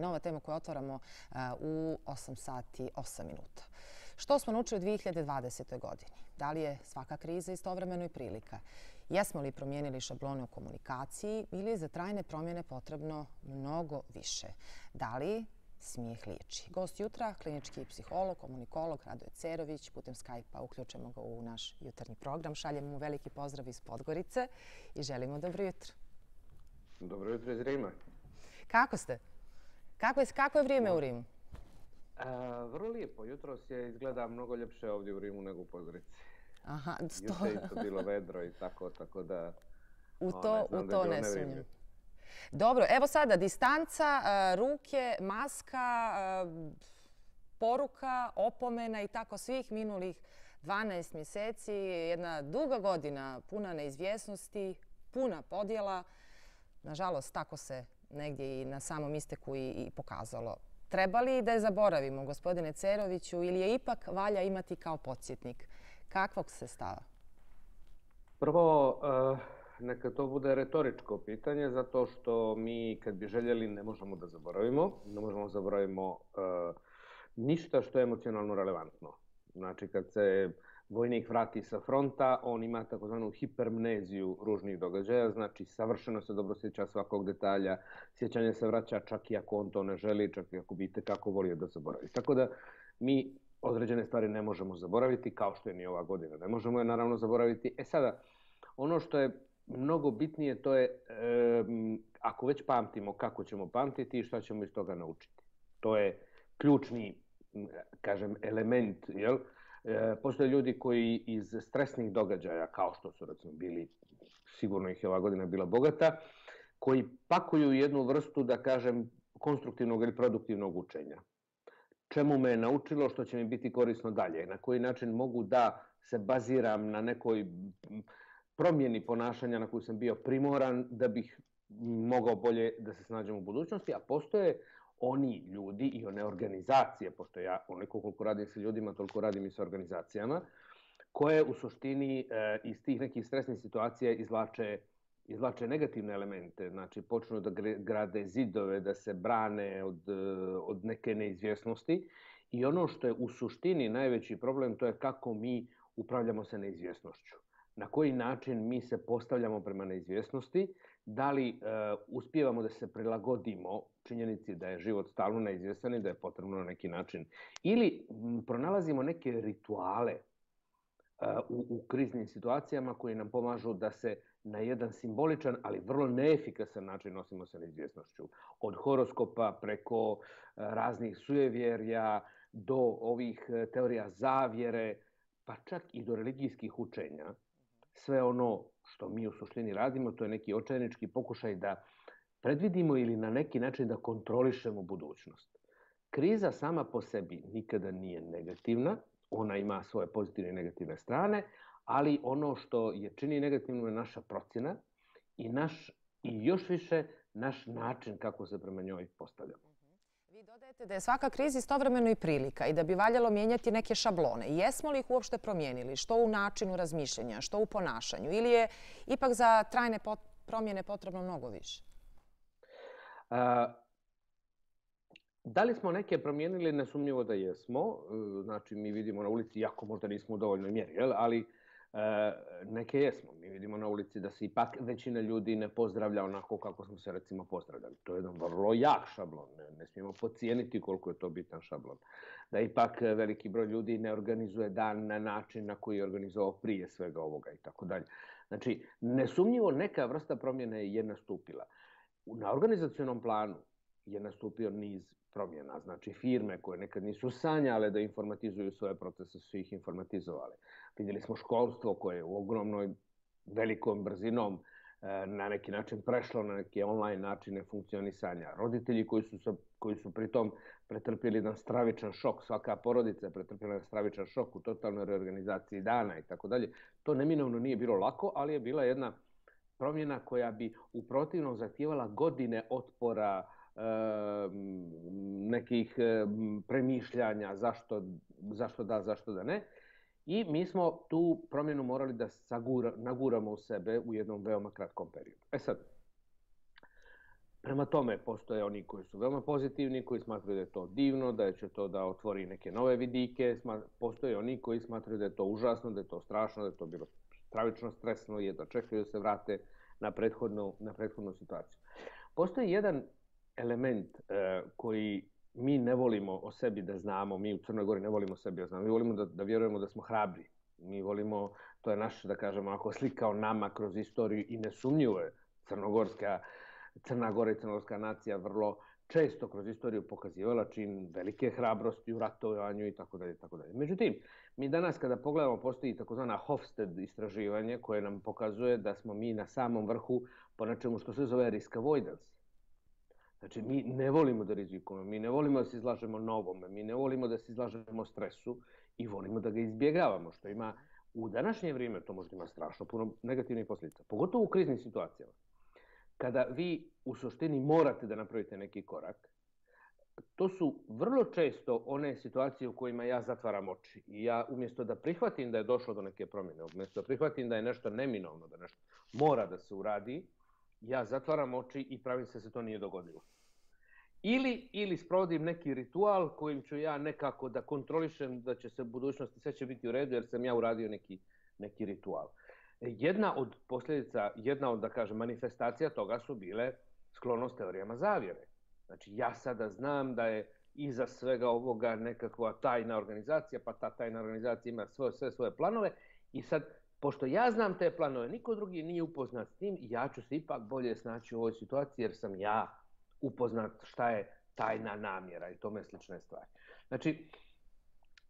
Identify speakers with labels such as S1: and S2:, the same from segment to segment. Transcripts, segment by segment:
S1: Nova tema koju otvaramo u 8 sati 8 minuta. Što smo naučili u 2020. godini? Da li je svaka kriza istovremeno i prilika? Jesmo li promijenili šablone u komunikaciji ili je za trajne promjene potrebno mnogo više? Da li smijeh liječi? Gost jutra, klinički psiholog, komunikolog Radoje Cerović. Putem Skype-a uključujemo ga u naš jutarnji program. Šaljemo mu veliki pozdrav iz Podgorice i želimo dobro jutro.
S2: Dobro jutro iz Rima.
S1: Kako ste? Kako je vrijeme u Rimu?
S2: Vrlo lijepo. Jutros je izgleda mnogo ljepše ovdje u Rimu nego u Podgorici.
S1: Aha,
S2: Juče je isto bilo vedro i tako da...
S1: U to ne sumnjam. Dobro, evo sada distanca, ruke, maska, poruka, opomena i tako svih minulih 12 mjeseci. Jedna duga godina puna neizvjesnosti, puna podjela. Nažalost, tako se negdje i na samom isteku i pokazalo. Treba li da je zaboravimo, gospodine Ceroviću, ili je ipak valja imati kao podsjetnik? Kakvog se stava?
S2: Prvo, neka to bude retoričko pitanje, zato što mi kad bi željeli ne možemo da zaboravimo. Ne možemo da zaboravimo ništa što je emocionalno relevantno. Znači, kad se vojnik vrati sa fronta, on ima takozvanu hipermneziju ružnih događaja, znači savršeno se dobro sjeća svakog detalja, sjećanje se vraća čak i ako on to ne želi, čak i ako bi itekako volio da zaboravi. Tako da mi određene stvari ne možemo zaboraviti, kao što je ni ova godina. Ne možemo je naravno zaboraviti. Sada, ono što je mnogo bitnije to je ako već pamtimo, kako ćemo pamtiti i šta ćemo iz toga naučiti. To je ključni, kažem, element, jel? Postoje ljudi koji iz stresnih događaja, kao što su recimo bili, sigurno ih je ova godina bila bogata, koji pakuju jednu vrstu, da kažem, konstruktivnog ili produktivnog učenja. Čemu me je naučilo, što će mi biti korisno dalje, na koji način mogu da se baziram na nekoj promjeni ponašanja na koju sam bio primoran da bih mogao bolje da se snađem u budućnosti, a postoje oni ljudi i one organizacije, pošto ja onoliko koliko radim sa ljudima, toliko radim i sa organizacijama, koje u suštini iz tih nekih stresnih situacija izvlače negativne elemente, znači počnu da grade zidove, da se brane od neke neizvjesnosti. I ono što je u suštini najveći problem, to je kako mi upravljamo sa neizvjesnošću. Na koji način mi se postavljamo prema neizvjesnosti, da li uspijevamo da se prilagodimo činjenici da je život stalno neizvjestan i da je potrebno na neki način. Ili pronalazimo neke rituale u kriznim situacijama koji nam pomažu da se na jedan simboličan, ali vrlo neefikasan način nosimo sa neizvjesnošću. Od horoskopa preko raznih sujevjerja do ovih teorija zavjere, pa čak i do religijskih učenja. Sve ono što mi u suštini radimo, to je neki očajnički pokušaj da predvidimo ili na neki način da kontrolišemo budućnost. Kriza sama po sebi nikada nije negativna, ona ima svoje pozitivne i negativne strane, ali ono što je čini negativno je naša procjena i još više naš način kako se prema njoj postavljamo.
S1: Vi dodajete da je svaka kriza istovremeno i prilika i da bi valjalo mijenjati neke šablone. Jesmo li ih uopšte promijenili? Što u načinu razmišljanja, što u ponašanju? Ili je ipak za trajne promjene potrebno mnogo više?
S2: Da li smo neke promijenili? Nesumnjivo da jesmo. Znači, mi vidimo na ulici, iako možda nismo u dovoljnoj mjeri, ali neke jesmo. Mi vidimo na ulici da se ipak većina ljudi ne pozdravlja onako kako smo se recimo pozdravljali. To je jedan vrlo jak šablon. Ne smijemo podcijeniti koliko je to bitan šablon. Da ipak veliki broj ljudi ne organizuje dan na način na koji je organizovao prije svega ovoga i tako dalje. Znači, nesumnjivo neka vrsta promjene je nastupila. Na organizacionom planu je nastupio niz promjena. Znači, firme koje nekad nisu sanjale da informatizuju svoje procese, su ih informatizovale. Vidjeli smo školstvo koje je u ogromnoj, velikom brzinom na neki način prešlo na neke online načine funkcionisanja. Roditelji koji su pritom pretrpjeli jedan stravičan šok, svaka porodica je pretrpjela jedan stravičan šok u totalnoj reorganizaciji dana i tako dalje. To neminovno nije bilo lako, ali je bila jedna promjena koja bi u protivnom zahtijevala godine otpora, nekih premišljanja zašto da, zašto da ne. I mi smo tu promjenu morali da naguramo u sebe u jednom veoma kratkom periodu. Sad, Prema tome, postoje oni koji su veoma pozitivni, koji smatraju da je to divno, da će to da otvori neke nove vidike. Postoje oni koji smatraju da je to užasno, da je to strašno, da je to bilo stravično stresno i da čekaju da se vrate na prethodnu situaciju. Postoji jedan element koji mi ne volimo o sebi da znamo, mi u Crnoj Gori ne volimo o sebi da znamo, mi volimo da vjerujemo da smo hrabri. Mi volimo, to je naš, da kažemo, ako slika o nama kroz istoriju i nesumnjivo je Crna Gora i crnogorska nacija vrlo često kroz istoriju pokazivala čin velike hrabrosti u ratovanju i tako dalje. Međutim, mi danas kada pogledamo postoji takozvana Hofstede istraživanje koje nam pokazuje da smo mi na samom vrhu po nečemu što se zove risk avoidance. Znači, mi ne volimo da rizikujemo, mi ne volimo da se izlažemo novome, mi ne volimo da se izlažemo stresu i volimo da ga izbjegavamo, što ima u današnje vrijeme, to možda ima strašno puno negativnih posljedica, pogotovo u kriznim situacijama. Kada vi u suštini morate da napravite neki korak, to su vrlo često one situacije u kojima ja zatvaram oči. I ja umjesto da prihvatim da je došlo do neke promjene, umjesto da prihvatim da je nešto neminovno, da nešto mora da se uradi, ja zatvaram oči i pravim se da se to nije dogodilo. Ili sprovodim neki ritual kojim ću ja nekako da kontrolišem da će se u budućnosti sve će biti u redu jer sam ja uradio neki ritual. Jedna od posljedica, da kažem, manifestacija toga su bile sklonost teorijama zavjere. Znači, ja sada znam da je iza svega ovoga nekakva tajna organizacija, pa ta tajna organizacija ima sve svoje planove i sad, pošto ja znam te planove, niko drugi nije upoznat s tim, ja ću se ipak bolje snaći u ovoj situaciji jer sam ja upoznat šta je tajna namjera i tome slične stvari. Znači,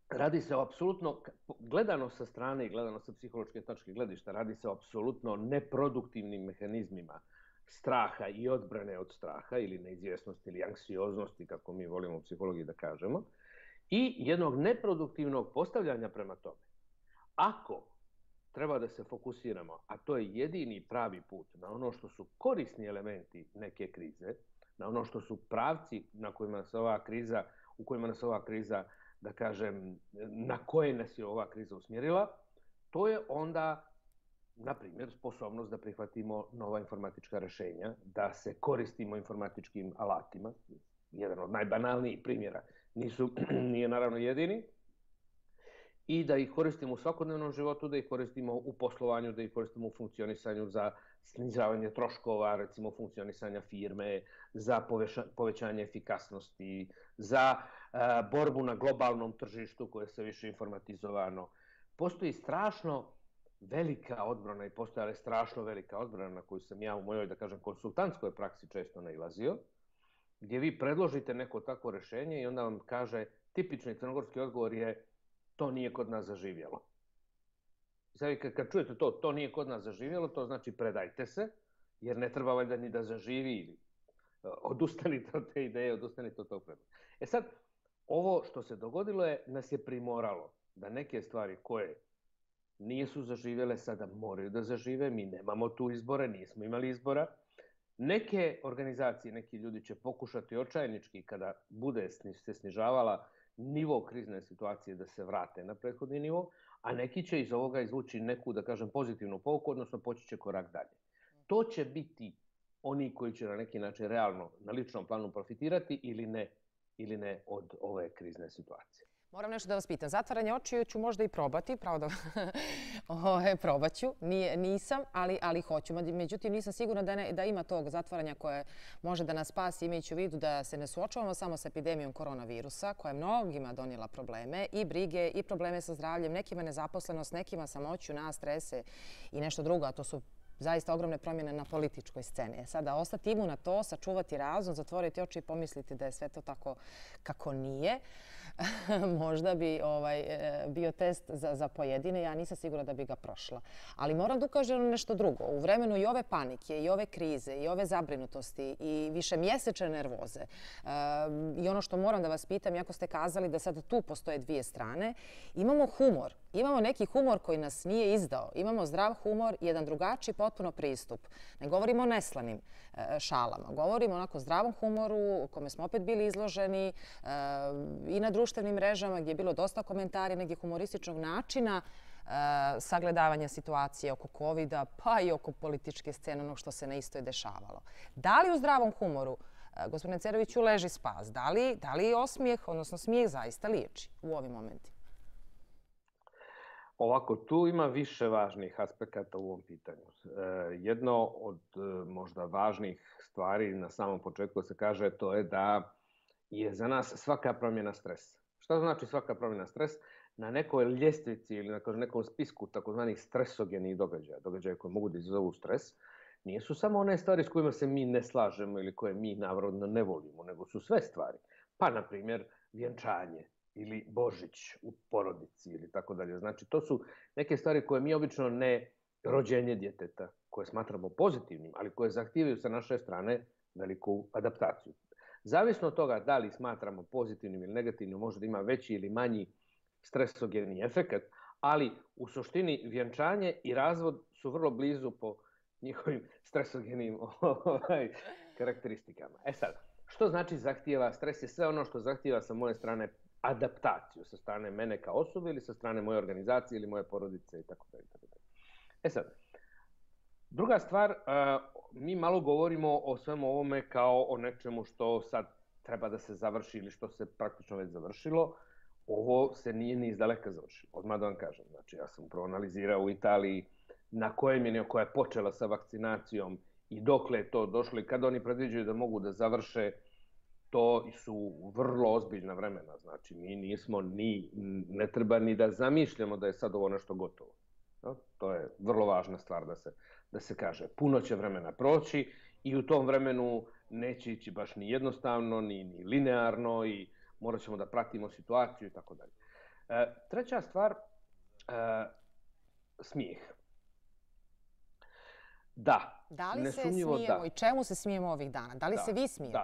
S2: radi se o apsolutno, gledano sa strane i gledano sa psihološke tačke gledišta, radi se o apsolutno neproduktivnim mehanizmima straha i odbrane od straha ili neizvjesnosti ili anksioznosti, kako mi volimo u psihologiji da kažemo, i jednog neproduktivnog postavljanja prema tome. Ako treba da se fokusiramo, a to je jedini pravi put na ono što su korisni elementi neke krize, na ono što su pravci u kojima nas ova kriza, da kažem, na koje nas je ova kriza usmjerila, to je onda, na primjer, sposobnost da prihvatimo nova informatička rješenja, da se koristimo informatičkim alatima. Jedan od najbanalnijih primjera, nije naravno jedini, i da ih koristimo u svakodnevnom životu, da ih koristimo u poslovanju, da ih koristimo u funkcionisanju za snizavanje troškova, recimo funkcionisanja firme, za povećanje efikasnosti, za borbu na globalnom tržištu koje je sve više informatizovano. Postoji strašno velika odbrana i postojala je strašno velika odbrana na koju sam ja u mojoj, da kažem, konsultantskoj praksi često nailazio, gdje vi predložite neko takvo rješenje i onda vam kaže, tipični crnogorski odgovor je to nije kod nas zaživjelo. Sad kad čujete to nije kod nas zaživjelo, to znači predajte se, jer ne treba valjda ni da zaživi ili odustanite od te ideje, odustanite od tog predloga. Sad, ovo što se dogodilo nas je primoralo da neke stvari koje nisu zaživjele sada moraju da zažive, mi nemamo tu izbore, nismo imali izbora. Neke organizacije, neki ljudi će pokušati očajnički kada bude se snižavala nivo krizne situacije da se vrate na prethodni nivo, a neki će iz ovoga izvući neku, da kažem, pozitivnu pouku, odnosno poći će korak dalje. To će biti oni koji će na neki način realno na ličnom planu profitirati ili ne od ove krizne situacije.
S1: Moram nešto da vas pitam. Zatvaranje očiju ću možda i probati, pravo da probat ću. Nisam, ali hoću. Međutim, nisam sigurna da ima tog zatvaranja koje može da nas spasi, imajući u vidu da se ne suočavamo samo sa epidemijom koronavirusa, koja je mnogima donijela probleme i brige i probleme sa zdravljem, nekima nezaposlenost, nekima samoću, nas strese i nešto drugo, a to su zaista ogromne promjene na političkoj sceni. Sada ostati imun na to, sačuvati razum, zatvoriti oči i pomisliti da je sve to tako kako nije. Možda bi bio test za pojedine. Ja nisam sigurna da bi ga prošla. Ali moram da ukažem na nešto drugo. U vremenu i ove panike, i ove krize, i ove zabrinutosti, i višemjesečne nervoze. I ono što moram da vas pitam, iako ste kazali da sad tu postoje dvije strane, imamo humor. Imamo neki humor koji nas nije izdao. Imamo zdrav humor i jedan drugačiji potpuno pristup. Ne govorimo o neslanim šalama. Govorimo o onako zdravom humoru kome smo opet bili izloženi i na društvenim mrežama gdje je bilo dosta komentara, nekih humorističnog načina sagledavanja situacije oko COVID-a, pa i oko političke scene, ono što se na istoj dešavalo. Da li u zdravom humoru, gospodine Ceroviću, leži spas? Da li osmijeh, odnosno smijeh, zaista liječi u ovim momentima?
S2: Ovako, tu ima više važnih aspekata u ovom pitanju. Jedno od možda važnih stvari na samom početku se kaže to je da je za nas svaka promjena stres. Šta znači svaka promjena stres? Na nekoj ljestvici ili na nekom spisku takozvanih stresogenih događaja koji mogu da izazovu stres, nisu samo one stvari s kojima se mi ne slažemo ili koje mi navodno ne volimo, nego su sve stvari. Pa, na primjer, vjenčanje ili Božić u porodici ili tako dalje. Znači, to su neke stvari koje mi obično ne rođenje djeteta, koje smatramo pozitivnim, ali koje zahtijevaju sa naše strane veliku adaptaciju. Zavisno od toga da li smatramo pozitivnim ili negativnim, može da ima veći ili manji stresogeni efekt, ali u suštini vjenčanje i razvod su vrlo blizu po njihovim stresogenim karakteristikama. E sad, što znači zahtijeva stres? Je sve ono što zahtijeva sa moje strane adaptaciju, sa strane mene kao osobe ili sa strane moje organizacije ili moje porodice itd. E sad, druga stvar, mi malo govorimo o svemu ovome kao o nečemu što sad treba da se završi ili što se praktično već završilo. Ovo se nije ni izdaleka završilo, odmah da vam kažem. Znači, ja sam proanalizirao u Italiji na kojem je koja je počela sa vakcinacijom i dokle je to došlo i kada oni predviđaju da mogu da završe, to su vrlo ozbiljna vremena. Znači, mi nismo ne treba ni da zamišljamo da je sad ovo nešto gotovo. To je vrlo važna stvar da se kaže. Puno će vremena proći i u tom vremenu neće ići baš ni jednostavno, ni linearno i morat ćemo da pratimo situaciju i tako dalje. Treća stvar, smijeh.
S1: Da li se smijemo i čemu se smijemo ovih dana? Da li se vi smijete?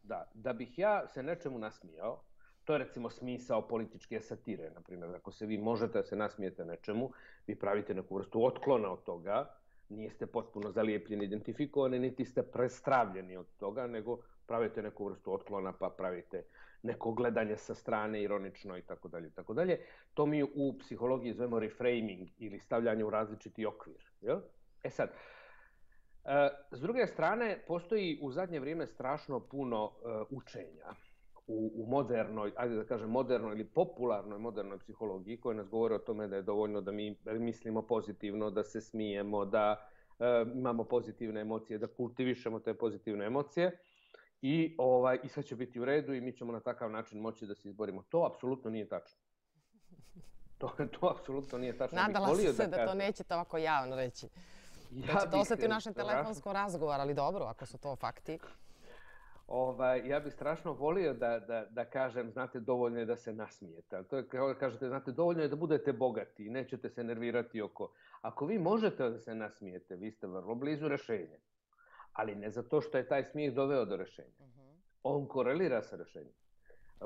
S2: Da. Da bih ja se nečemu nasmijao, to je recimo smisao političke satire. Naprimjer, ako se vi možete da se nasmijete nečemu, vi pravite neku vrstu otklona od toga, niste potpuno zalijepljeni, identifikovani, niti ste prestravljeni od toga, nego pravite neku vrstu otklona, pa pravite neko gledanje sa strane, ironično i tako dalje. To mi u psihologiji zovemo reframing ili stavljanje u različiti okvir. E sad, s druge strane, postoji u zadnje vrijeme strašno puno učenja u modernoj, ajde da kažem modernoj ili popularnoj modernoj psihologiji koje nas govore o tome da je dovoljno da mi mislimo pozitivno, da se smijemo, da imamo pozitivne emocije, da kultivišemo te pozitivne emocije i sve će biti u redu i mi ćemo na takav način moći da se izborimo. To apsolutno nije tačno. To apsolutno nije tačno.
S1: Nadala sam se da to nećete ovako javno reći. Da će to ostati u našem telefonskom razgovoru, ali dobro, ako su to fakti.
S2: Ja bih strašno volio da kažem, znate, dovoljno je da se nasmijete. To je kao da kažete, znate, dovoljno je da budete bogati i nećete se nervirati oko. Ako vi možete da se nasmijete, vi ste vrlo blizu rešenja. Ali ne zato što je taj smijeh doveo do rešenja. On korelira sa rešenjem.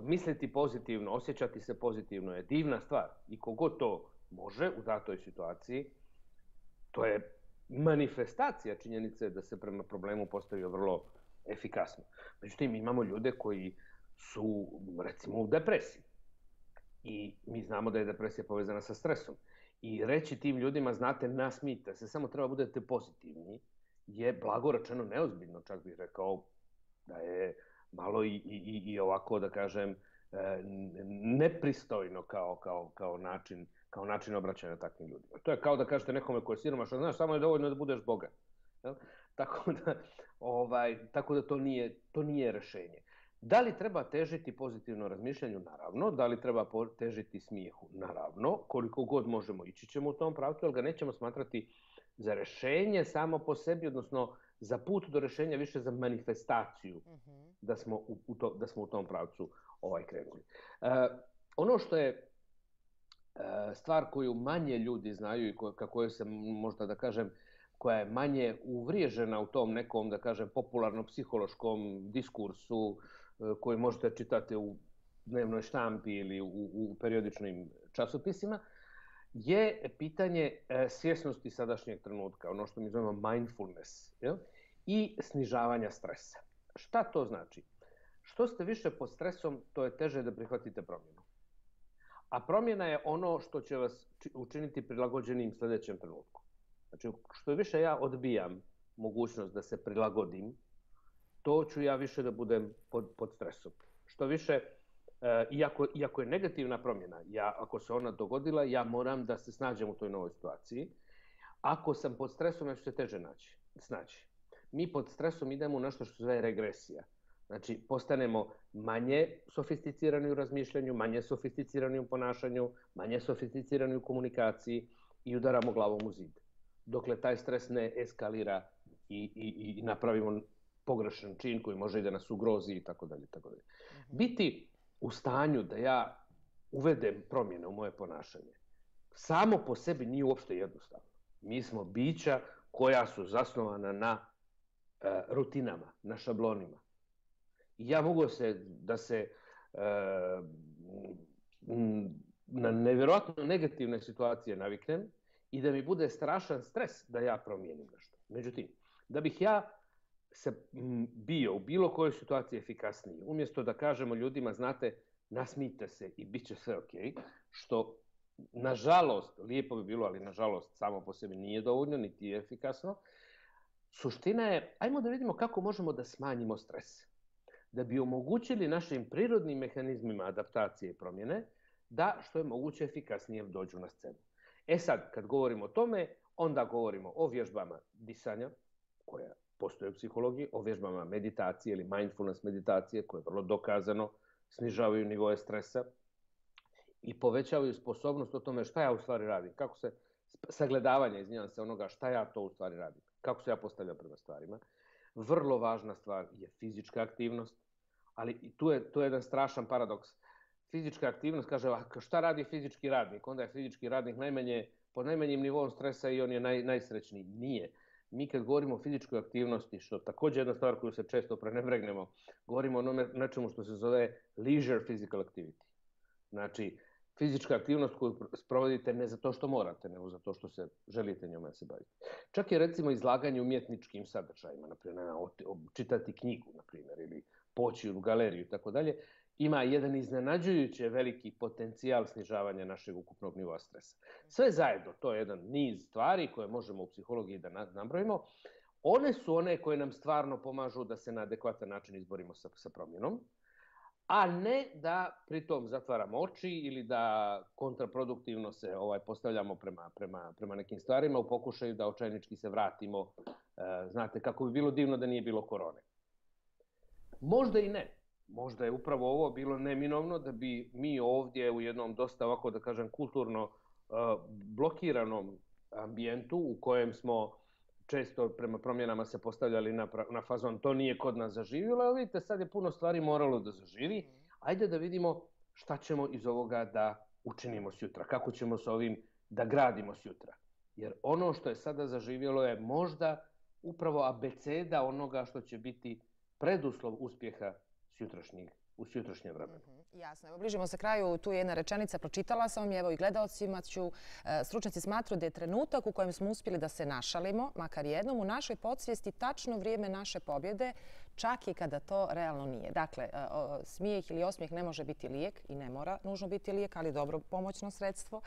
S2: Misliti pozitivno, osjećati se pozitivno je divna stvar. I kogod to može u datoj situaciji, to je manifestacija činjenice da se prema problemu postavio vrlo efikasno. Međutim, imamo ljude koji su, recimo, u depresiji. I mi znamo da je depresija povezana sa stresom. I reći tim ljudima, znate, nasmijte se, samo treba budete pozitivni, je blago rečeno neozbiljno, čak bih rekao da je malo i ovako, da kažem, nepristojno kao način obraćanja takvim ljudima. To je kao da kažete nekome ko je siromašan, znaš, samo je dovoljno da budeš bogat. Tako da to nije rešenje. Da li treba težiti pozitivno razmišljanju? Naravno. Da li treba težiti smijehu? Naravno. Koliko god možemo ići ćemo u tom pravcu, ali ga nećemo smatrati za rešenje samo po sebi, odnosno za put do rešenja, više za manifestaciju da smo u tom pravcu krenuli. Ono što je stvar koju manje ljudi znaju i kako je se možda da kažem koja je manje uvriježena u tom nekom, da kažem, popularno-psihološkom diskursu koji možete čitati u dnevnoj štampi ili u periodičnim časopisima, je pitanje svjesnosti sadašnjeg trenutka, ono što mi zovemo mindfulness, i snižavanja stresa. Šta to znači? Što ste više pod stresom, to je teže da prihvatite promjenu. A promjena je ono što će vas učiniti prilagođenim sljedećem trenutku. Znači, što više ja odbijam mogućnost da se prilagodim, to ću ja više da budem pod stresom. Što više, iako je negativna promjena, ako se ona dogodila, ja moram da se snađem u toj novoj situaciji. Ako sam pod stresom, ja ću se teže snaći. Mi pod stresom idemo u nešto što se zove regresija. Znači, postanemo manje sofisticirani u razmišljanju, manje sofisticirani u ponašanju, manje sofisticirani u komunikaciji i udaramo glavom u zid. Dokle taj stres ne eskalira i napravimo pogrešan čin koji može i da nas ugrozi i tako dalje. Biti u stanju da ja uvedem promjene u moje ponašanje samo po sebi nije uopšte jednostavno. Mi smo bića koja su zasnovana na rutinama, na šablonima. I ja mogu da se na nevjerojatno negativne situacije naviknem i da mi bude strašan stres da ja promijenim nešto. Međutim, da bih ja se bio u bilo kojoj situaciji efikasniji, umjesto da kažemo ljudima, znate, nasmijte se i bit će sve ok, što nažalost, lijepo bi bilo, ali nažalost samo po sebi nije dovoljno, niti je efikasno. Suština je, ajmo da vidimo kako možemo da smanjimo stres. Da bi omogućili našim prirodnim mehanizmima adaptacije i promjene da što je moguće efikasnije dođu na scenu. Sad, kad govorimo o tome, onda govorimo o vježbama disanja, koja postoje u psihologiji, o vježbama meditacije ili mindfulness meditacije, koje vrlo dokazano snižavaju nivoe stresa i povećavaju sposobnost o tome šta ja u stvari radim, kako se sagledavanje, izvinjavam se, onoga šta ja to u stvari radim, kako se ja postavljam prema stvarima. Vrlo važna stvar je fizička aktivnost, ali tu je jedan strašan paradoks. Fizička aktivnost, kaže, šta radi fizički radnik? Onda je fizički radnik pod najmanjim nivom stresa i on je najsrećniji. Nije. Mi kad govorimo o fizičkoj aktivnosti, što također jedna stvar koju se često prenebregnemo, govorimo o nečemu što se zove leisure physical activity. Znači, fizička aktivnost koju sprovodite ne zato što morate, nego zato što se želite njome se baviti. Čak je recimo izlaganje umjetničkim sadržajima, naprimjer čitati knjigu, naprimjer, ili poći u galeriju i tako dalje, ima jedan iznenađujuće veliki potencijal snižavanja našeg ukupnog nivoa stresa. Sve zajedno, to je jedan niz stvari koje možemo u psihologiji da nabrojimo. One su one koje nam stvarno pomažu da se na adekvatan način izborimo sa promjenom, a ne da pritom zatvaramo oči ili da kontraproduktivno se postavljamo prema nekim stvarima u pokušaju da očajnički se vratimo. Znate, kako bi bilo divno da nije bilo korone. Možda i ne. Možda je upravo ovo bilo neminovno da bi mi ovdje u jednom dosta, ovako da kažem, kulturno blokiranom ambijentu u kojem smo često prema promjenama se postavljali na fazon to nije kod nas zaživjelo, a vidite sad je puno stvari moralo da zaživi. Ajde da vidimo šta ćemo iz ovoga da učinimo sutra, kako ćemo s ovim da gradimo sutra. Jer ono što je sada zaživjelo je možda upravo abeceda onoga što će biti preduslov uspjeha u sutrašnjem vremenu.
S1: Jasno. Evo, bližimo se kraju. Tu je jedna rečenica, pročitala sam je, evo i gledaocima ću. Stručnjaci smatruju da je trenutak u kojem smo uspjeli da se našalimo, makar jednom, u našoj podsvijesti tačno vrijeme naše pobjede, čak i kada to realno nije. Dakle, smijeh ili osmijeh ne može biti lijek i ne mora nužno biti lijek, ali dobro pomoćno sredstvo.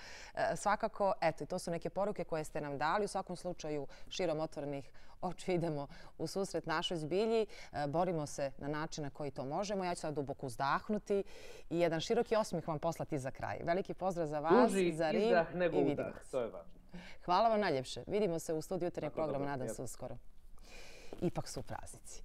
S1: Svakako, eto, i to su neke poruke koje ste nam dali. U svakom slučaju, širom otvorenih očiju idemo u susret našoj zbilji. Borimo se na način na koji to možemo. Ja ću sad duboko uzdahnuti i jedan široki osmijeh vam poslati za kraj. Veliki pozdrav za vas, za Rim i vidimo se.
S2: To je važno.
S1: Hvala vam najljepše. Vidimo se u studiju Jutarnjeg programa, nadam se uskoro. Ipak su praznici.